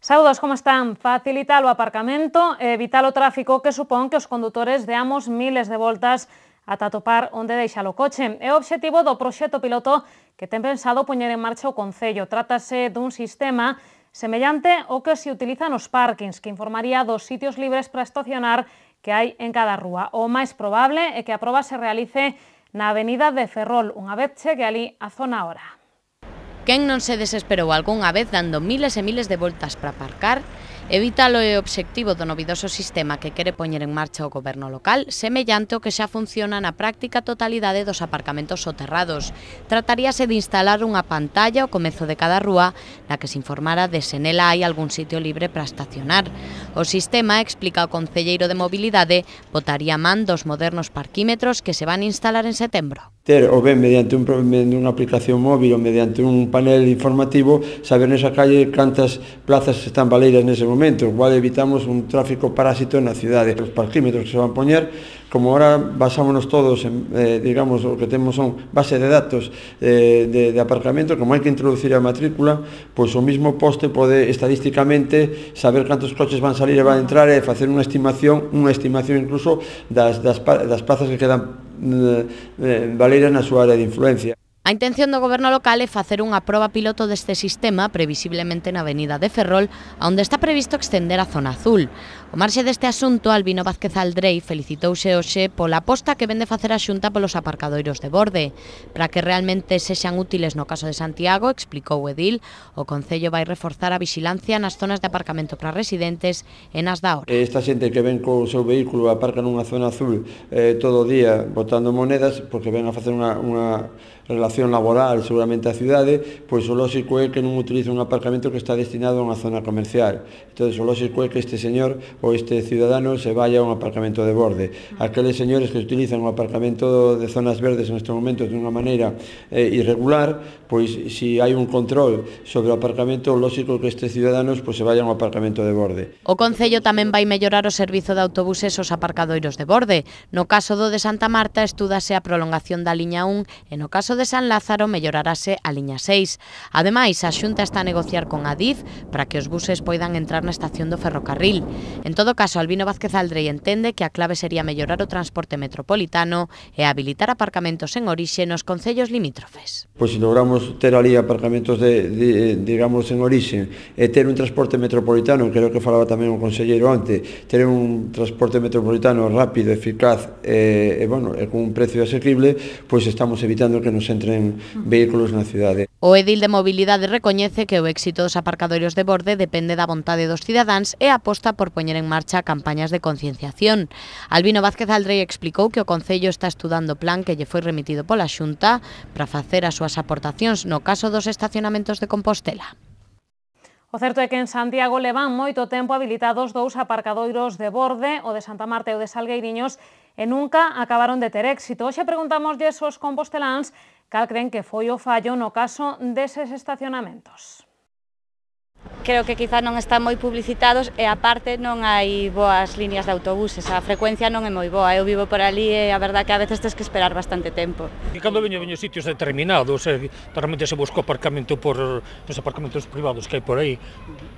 Saúdos, como están? Facilitar o aparcamento e evitar o tráfico que supón que os condutores deamos miles de voltas ata topar onde deixar o coche. É o obxectivo do proxecto piloto que ten pensado poñer en marcha o Concello. Trátase dun sistema semellante ao que se utiliza nos parkings, que informaría dos sitios libres para estacionar que hai en cada rúa. O máis probable é que a proba se realice na avenida de Ferrol, unha vez chegue ali a zona hora. Quen non se desesperou algunha vez dando miles e miles de voltas para aparcar? Evítalo é o obxectivo do novidoso sistema que quere poñer en marcha o goberno local, semellante ao que xa funciona na práctica totalidade dos aparcamentos soterrados. Trataríase de instalar unha pantalla ao comezo de cada rúa na que se informara de se nela hai algún sitio libre para estacionar. O sistema, explica o concelleiro de Mobilidade, botaría man dos modernos parquímetros que se van instalar en setembro. Ter ou ben mediante unha aplicación móvil ou mediante un panel informativo saber nesa calle cantas plazas están baleiras nese momento, igual evitamos un tráfico parásito na cidade. Os parquímetros que se van poñer, como ahora basámonos todos en, digamos, o que temos son base de datos de aparcamento, como hai que introducir a matrícula, pois o mismo poste pode estadísticamente saber cantos coches van salir e van entrar e facer unha estimación incluso das plazas que quedan valeiras na súa área de influencia. A intención do goberno local é facer unha proba piloto deste sistema, previsiblemente na avenida de Ferrol, onde está previsto extender a zona azul. O marxe deste asunto, Albino Vázquez Aldrei felicitouse hoxe pola aposta que vende facer a Xunta polos aparcadoiros de borde. Para que realmente sexan útiles no caso de Santiago, explicou o edil, o Concello vai reforzar a vixilancia nas zonas de aparcamento para residentes e nas da hora. Esta xente que ven co seu vehículo aparca nunha zona azul todo o día botando monedas, porque ven a facer unha relación laboral seguramente a cidade, pois o lóxico é que non utilice un aparcamento que está destinado a unha zona comercial. Entón, o lóxico é que este señor ou este ciudadano se vaya a un aparcamento de borde. Aqueles señores que utilizan un aparcamento de zonas verdes en estes momentos de unha maneira irregular, pois se hai un control sobre o aparcamento, o lóxico que estes ciudadanos pois se vayan a un aparcamento de borde. O Concello tamén vai mellorar o servizo de autobuses aos aparcadoiros de borde. No caso do de Santa Marta, estúdase a prolongación da liña 1 e no caso de San Lázaro mellorarase a liña 6. Ademais, a Xunta está a negociar con Adif para que os buses poidan entrar na estación do ferrocarril. En todo caso, Albino Vázquez Aldrei entende que a clave sería mellorar o transporte metropolitano e habilitar aparcamentos en orixe nos concellos limítrofes. Pois se logramos ter ali aparcamentos digamos en orixe e ter un transporte metropolitano, creo que falaba tamén o conselleiro antes, ter un transporte metropolitano rápido, eficaz e con un precio asequible, pois estamos evitando que nos entren vehículos na cidade. O edil de Mobilidade recoñece que o éxito dos aparcadoiros de borde depende da vontade dos cidadáns e aposta por poñer en marcha campañas de concienciación. Albino Vázquez Aldrei explicou que o Concello está estudando o plan que lle foi remitido pola Xunta para facer as súas aportacións no caso dos estacionamentos de Compostela. O certo é que en Santiago levan moito tempo habilitados dous aparcadoiros de borde, o de Santa Marta e o de Salgueiriños, e nunca acabaron de ter éxito. Hoxe preguntámoslle aos composteláns cal creen que foi o fallo no caso deses estacionamentos. Creo que quizá non están moi publicitados e aparte non hai boas líneas de autobuses, a frecuencia non é moi boa, eu vivo por ali e a verdad que a veces tens que esperar bastante tempo. E cando veño sitios determinados, realmente se busco aparcamento nos aparcamentos privados que hai por aí,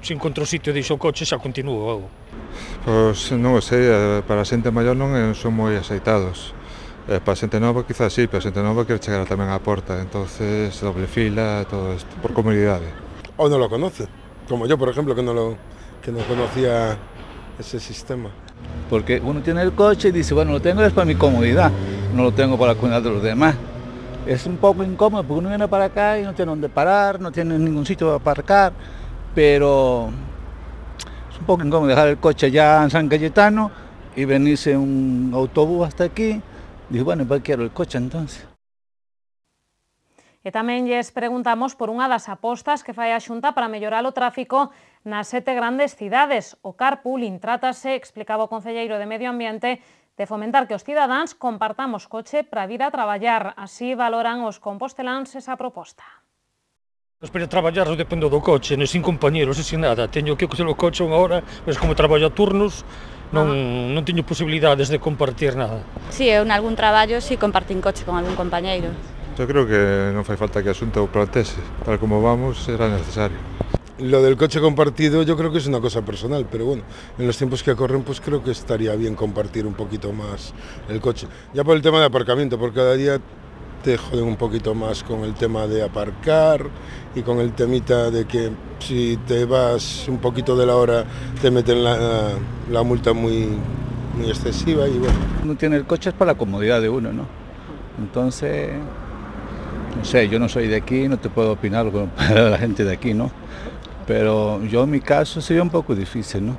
se encontro sitio e deixo o coche xa continúo. Pois non sei, para a xente maior non son moi aceitados. Para a xente nova quizás sí, pero a xente nova quere chegar tamén á porta, entonces doble fila, todo isto, por comodidade. O non lo conoce. Como yo, por ejemplo, que no conocía ese sistema. Porque uno tiene el coche y dice, bueno, lo tengo es para mi comodidad, no lo tengo para la comodidad de los demás. Es un poco incómodo porque uno viene para acá y no tiene dónde parar, no tiene ningún sitio para aparcar, pero es un poco incómodo dejar el coche ya en San Cayetano y venirse un autobús hasta aquí. Digo, bueno, ¿para qué quiero el coche entonces? E tamén lles preguntamos por unha das apostas que fai a Xunta para mellorar o tráfico nas 7 grandes cidades. O carpooling trátase, explicaba o concelleiro de Medio Ambiente, de fomentar que os cidadáns compartamos coche para vir a traballar. Así valoran os composteláns esa proposta. Para traballar non dependo do coche, sin compañeros, sin nada. Teño que coger o coche unha hora, mas como traballo a turnos, non teño posibilidades de compartir nada. Si, eu en algún traballo si compartín coche con algún compañeiro. Eu creo que non fai falta que a Xunta o plantese, tal como vamos será necesario. Lo del coche compartido yo creo que es una cosa personal, pero bueno, en los tiempos que corren pues creo que estaría bien compartir un poquito más el coche. Ya por el tema de aparcamiento, porque cada día te joden un poquito más con el tema de aparcar y con el temita de que si te vas un poquito de la hora te meten la multa muy excesiva y bueno. Uno tiene el coche es para la comodidad de uno, ¿no? Entonces, no sé, yo no soy de aquí, no te puedo opinar para la gente de aquí, ¿no? Pero yo en mi caso sería un pouco difícil, non?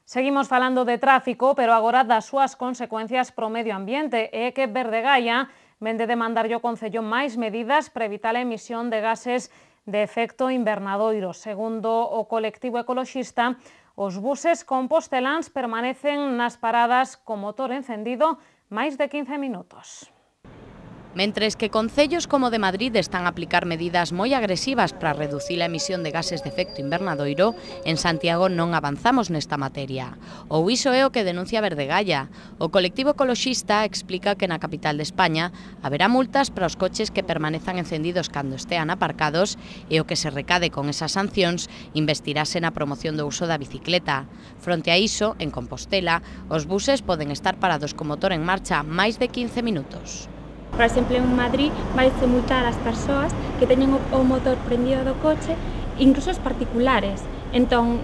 Seguimos falando de tráfico, pero agora das súas consecuencias pro medio ambiente. É que Verdegaia vende demandarlle ao Concello máis medidas para evitar a emisión de gases de efecto invernadoiro. Segundo o colectivo ecoloxista, os buses composteláns permanecen nas paradas co motor encendido máis de 15 minutos. Mentres que concellos como de Madrid están a aplicar medidas moi agresivas para reducir a emisión de gases de efecto invernadoiro, en Santiago non avanzamos nesta materia. Ou iso é o que denuncia Verdegaia. O colectivo ecoloxista explica que na capital de España haberá multas para os coches que permanezan encendidos cando estean aparcados e o que se recade con esas sancións investirase na promoción do uso da bicicleta. Fronte a iso, en Compostela, os buses poden estar parados co motor en marcha máis de 15 minutos. Por exemplo, en Madrid vaise multar as persoas que teñen o motor prendido do coche, incluso os particulares. Entón,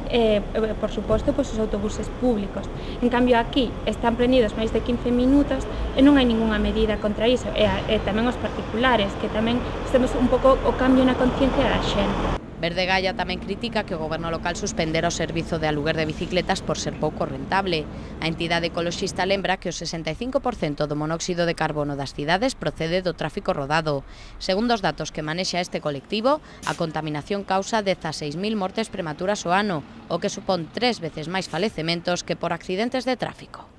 por suposto, os autobuses públicos. En cambio, aquí están prendidos máis de 15 minutos e non hai ningunha medida contra iso. E tamén os particulares, que tamén temos un pouco o cambio na conciencia da xente. Verdegaia tamén critica que o goberno local suspendera o servizo de aluguer de bicicletas por ser pouco rentable. A entidade ecoloxista lembra que o 65% do monóxido de carbono das cidades procede do tráfico rodado. Segundo os datos que manexa este colectivo, a contaminación causa 16.000 mortes prematuras ao ano, o que supón 3 veces máis falecementos que por accidentes de tráfico.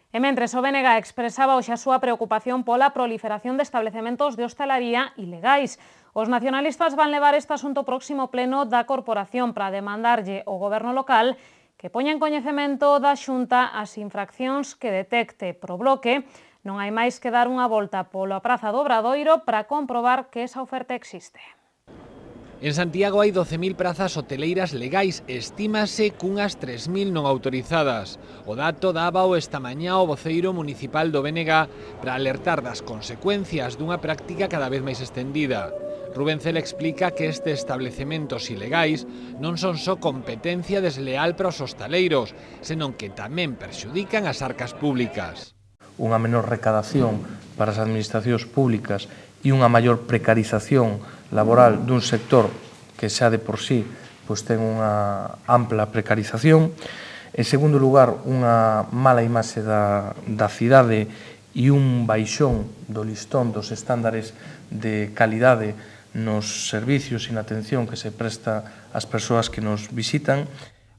E mentres o BNG expresaba hoxe a súa preocupación pola proliferación de establecementos de hostalaría ilegais. Os nacionalistas van levar este asunto próximo pleno da corporación para demandarlle ao goberno local que poña en coñecemento da Xunta as infraccións que detecte pro bloque. Non hai máis que dar unha volta pola Praza do Obradoiro para comprobar que esa oferta existe. En Santiago hai 12.000 prazas hoteleiras legais, estímase cunhas 3.000 non autorizadas. O dato dábao esta mañá o voceiro municipal do BNG para alertar das consecuencias dunha práctica cada vez máis estendida. Rubén Cela explica que estes establecementos ilegais non son só competencia desleal para os hostaleiros, senón que tamén perxudican as arcas públicas. Unha menor recadación para as administracións públicas e unha maior precarización laboral dun sector que xa de por sí ten unha ampla precarización. En segundo lugar, unha mala imaxe da cidade e un baixón do listón dos estándares de calidade nos servicios e na atención que se presta ás persoas que nos visitan.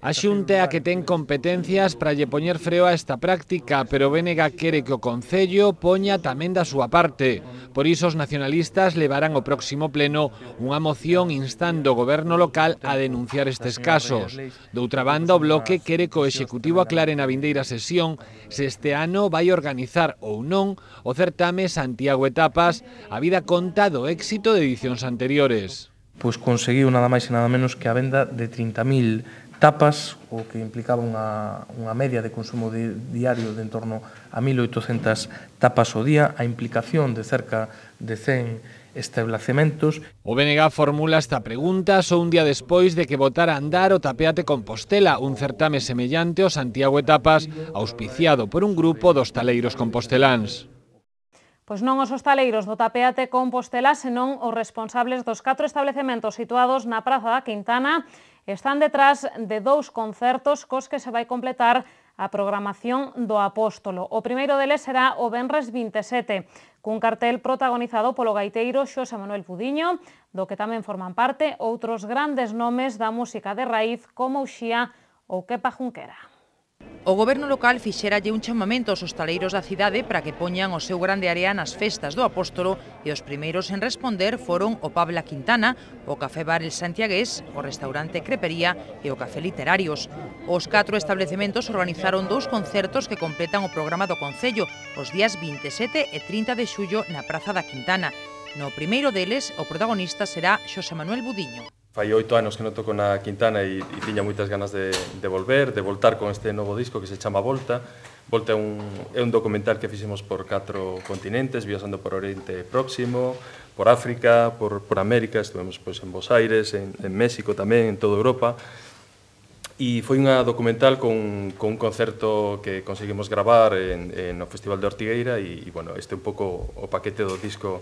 A Xunta é a que ten competencias para lle poñer freo a esta práctica, pero o BNG quere que o Concello poña tamén da súa parte. Por iso os nacionalistas levarán ao próximo pleno unha moción instando o goberno local a denunciar estes casos. Doutra banda, o Bloque quere que o Executivo aclare na vindeira sesión se este ano vai organizar ou non o certame Santiago Etapas, a vida conta do éxito de edicións anteriores. Pois conseguiu nada máis e nada menos que a venda de 30.000 tapas, o que implicaba unha media de consumo diario de en torno a 1.800 tapas ao día, a implicación de cerca de 100 establecementos. O BNG formula esta pregunta só un día despois de que botara a andar o Tapeate Compostela, un certame semellante ao Santiago Etapas, auspiciado por un grupo de hostaleiros composteláns. Pois non os hostaleiros do Tapeate Compostela, senón os responsables dos 4 establecementos situados na Praza da Quintana están detrás de 2 concertos cos que se vai completar a programación do Apóstolo. O primeiro deles será o venres 27, cun cartel protagonizado polo gaiteiro Xosé Manuel Budiño, do que tamén forman parte outros grandes nomes da música de raíz como Uxía ou Kepa Junquera. O goberno local fixéralle un chamamento aos hostaleiros da cidade para que poñan o seu grande área nas festas do Apóstolo e os primeiros en responder foron o Pabla Quintana, o Café Bar El Santiagués, o restaurante Crepería e o Café Literarios. Os 4 establecementos organizaron 2 concertos que completan o programa do Concello os días 27 e 30 de xullo na Praza da Quintana. No primeiro deles, o protagonista será Xosé Manuel Budiño. Fai 8 anos que non toco na Quintana e tiña moitas ganas de voltar con este novo disco que se chama Volta. Volta é un documental que fixemos por 4 continentes, viaxando por Oriente Próximo, por África, por América, estivemos en Buenos Aires, en México tamén, en toda Europa. E foi unha documental con un concerto que conseguimos gravar no Festival de Ortigueira e, bueno, este é un pouco o paquete do disco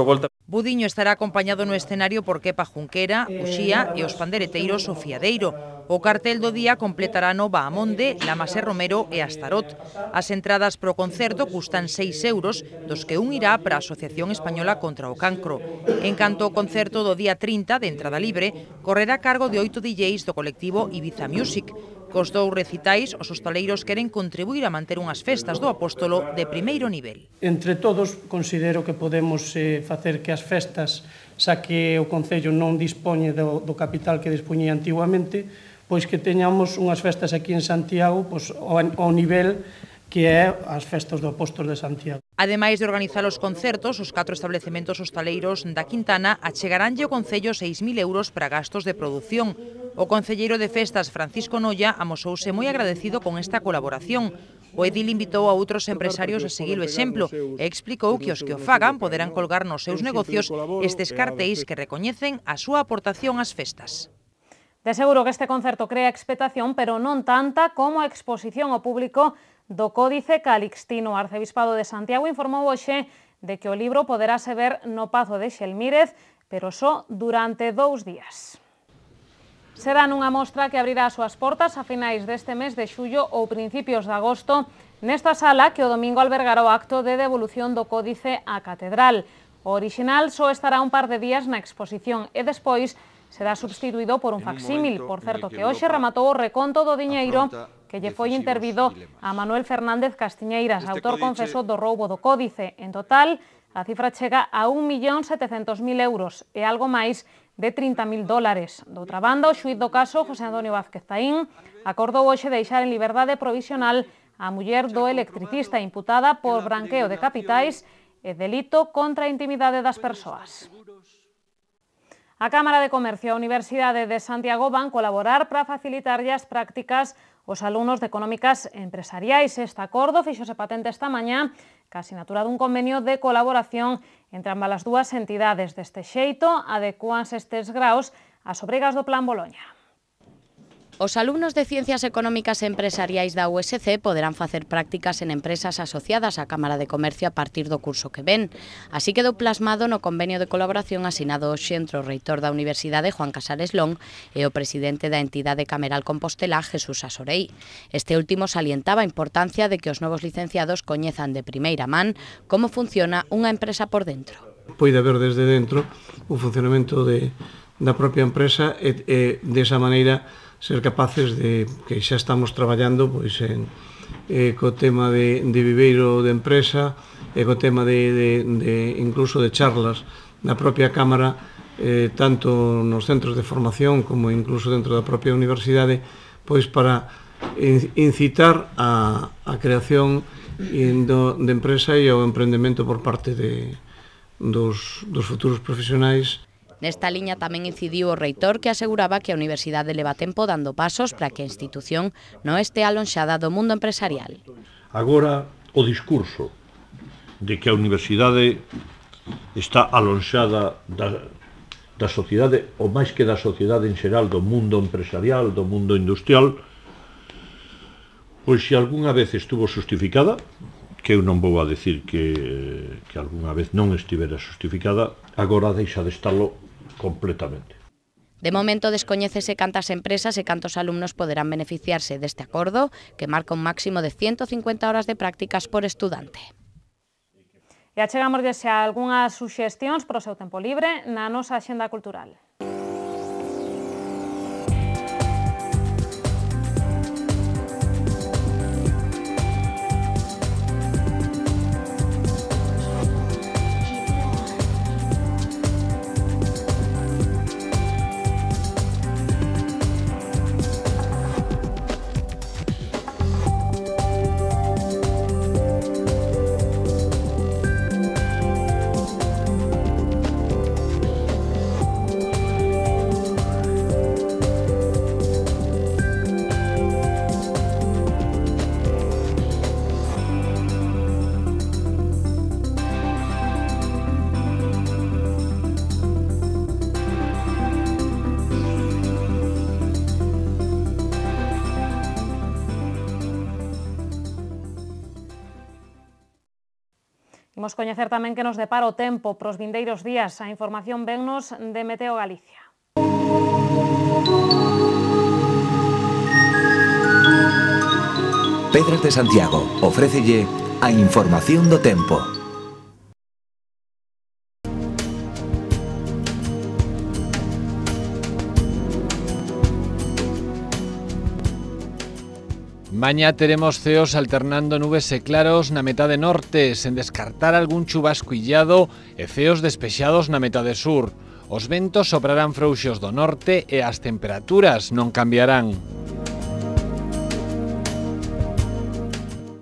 Volta. Budiño estará acompañado no escenario por Kepa Junquera, Uxía e os pandereteiros O Fiadeiro. O cartel do día completará no Bahamonde, Lamas e Romero e Astarot. As entradas pro concerto custan 6 euros, dos que un irá para a Asociación Española contra o Cancro. En canto ao concerto do día 30 de entrada libre, correrá a cargo de 8 DJs do colectivo Ibiza Music. Cos 2 recitais, os hostaleiros queren contribuir a manter unhas festas do Apóstolo de primeiro nivel. Entre todos, considero que podemos facer que as festas, xa que o Concello non dispoñe do capital que dispoñía antiguamente, pois que teñamos unhas festas aquí en Santiago ao nivel que é as festas do Apóstolo de Santiago. Ademais de organizar os concertos, os 4 establecementos hostaleiros da Quintana achegaranlle ao Concello 6.000 euros para gastos de produción. O concelleiro de festas, Francisco Noia, amosouse moi agradecido con esta colaboración. O edil invitou a outros empresarios a seguir o exemplo e explicou que os que o fagan poderán colgar nos seus negocios estes cartéis que recoñecen a súa aportación ás festas. De seguro que este concerto crea expectación, pero non tanta como a exposición ao público do Códice Calixtino. O Arcebispado de Santiago informou hoxe de que o libro poderase ver no Pazo de Xelmírez, pero só durante 2 días. Será nunha mostra que abrirá as súas portas a finais deste mes de xullo ou principios de agosto nesta sala que o domingo albergará o acto de devolución do Códice á Catedral. O orixinal só estará un par de días na exposición e despois será substituído por un facsímil. Por certo que hoxe rematou o reconto do diñeiro que lle foi intervido a Manuel Fernández Castiñeiras, autor confeso do roubo do Códice. En total, a cifra chega a 1.700.000 euros e algo máis de $30.000. Doutra banda, o xuíz do caso, José Antonio Vázquez Taín, acordou hoxe deixar en liberdade provisional a muller do electricista imputada por branqueo de capitais e delito contra a intimidade das persoas. A Cámara de Comercio e a Universidade de Santiago van colaborar para facilitarlle as prácticas aos alumnos de Económicas Empresariais. Este acordo fíxose patente esta mañá ca sinatura dun convenio de colaboración entre ambas as dúas entidades. Deste xeito, adecúanse estes graos ás obrigas do Plan Boloña. Os alumnos de Ciencias Económicas e Empresariais da USC poderán facer prácticas en empresas asociadas á Cámara de Comercio a partir do curso que ven. Así quedou plasmado no convenio de colaboración asinado hoxe entre o reitor da Universidade, Juan Casares Long, e o presidente da entidade cameral Compostela, Jesús Asorei. Este último salientaba a importancia de que os novos licenciados coñezan de primeira man como funciona unha empresa por dentro. Poide haber desde dentro o funcionamento da propia empresa e desa maneira ser capaces de, que xa estamos traballando co tema de viveiro de empresa e co tema de incluso de charlas na propia Cámara, tanto nos centros de formación como incluso dentro da propia universidade, pois para incitar a creación de empresa e ao emprendemento por parte dos futuros profesionais. Nesta liña tamén incidiu o reitor, que aseguraba que a universidade leva tempo dando pasos para que a institución non este alonxada do mundo empresarial. Agora, o discurso de que a universidade está alonxada da sociedade, ou máis que da sociedade en xeral, do mundo empresarial, do mundo industrial, pois se algunha vez estuvo justificada, que eu non vou a decir que algunha vez non estivera justificada, agora deixa de estalo completamente. De momento descoñécese cantas empresas e cantos alumnos poderán beneficiarse deste acordo, que marca un máximo de 150 horas de prácticas por estudante. E achegamoslle xa algunhas suxestións para o seu tempo libre na nosa axenda cultural. Imos coñecer tamén que nos depara o tempo pros vindeiros días. A información vennos de Meteo Galicia. Pedras de Santiago ofrécelle a información do tempo. Mañá teremos ceos alternando nubes e claros na metade norte, sen descartar algún chubasco illado e ceos despexados na metade sur. Os ventos soprarán frouxos do norte e as temperaturas non cambiarán.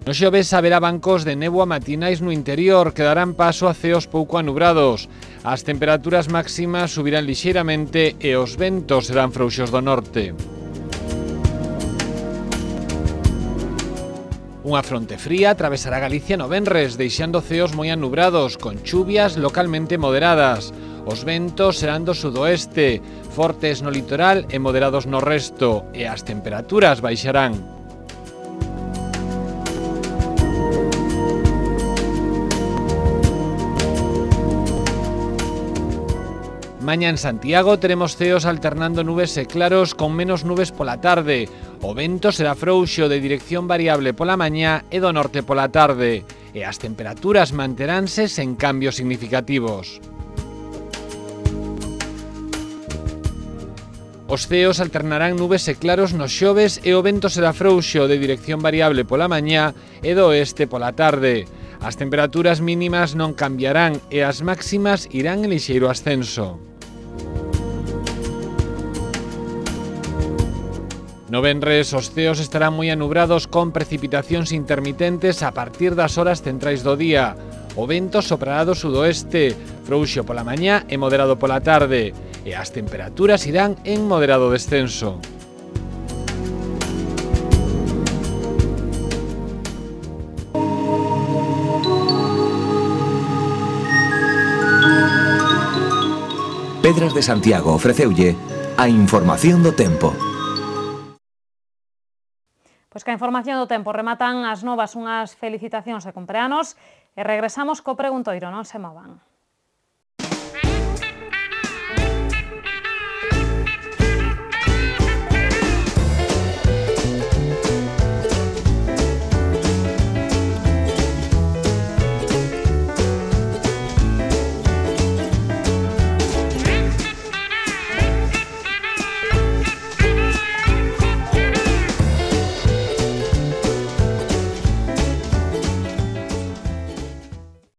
No xoves haberá bancos de néboa matinais no interior que darán paso a ceos pouco anubrados. As temperaturas máximas subirán lixeiramente e os ventos serán frouxos do norte. Unha fronte fría atravesará Galicia no venres, deixando ceos moi anubrados, con chuvias localmente moderadas. Os ventos serán do sudoeste, fortes no litoral e moderados no resto, e as temperaturas baixarán. Mañá en Santiago teremos ceos alternando nubes e claros con menos nubes pola tarde. O vento será frouxo de dirección variable pola mañá e do norte pola tarde. E as temperaturas manteránse sen cambios significativos. Os ceos alternarán nubes e claros nos xoves e o vento será frouxo de dirección variable pola mañá e do oeste pola tarde. As temperaturas mínimas non cambiarán e as máximas irán en lixeiro ascenso. No venres, os ceos estarán moi anubrados con precipitacións intermitentes a partir das horas centrais do día. O vento soprará do sudoeste, frouxo pola mañá e moderado pola tarde, e as temperaturas irán en moderado descenso. Pedras de Santiago ofreceulle a información do tempo. Pois que a información do tempo rematan as novas unhas felicitacións de cumpleanos e regresamos co preguntoiro, non se movan.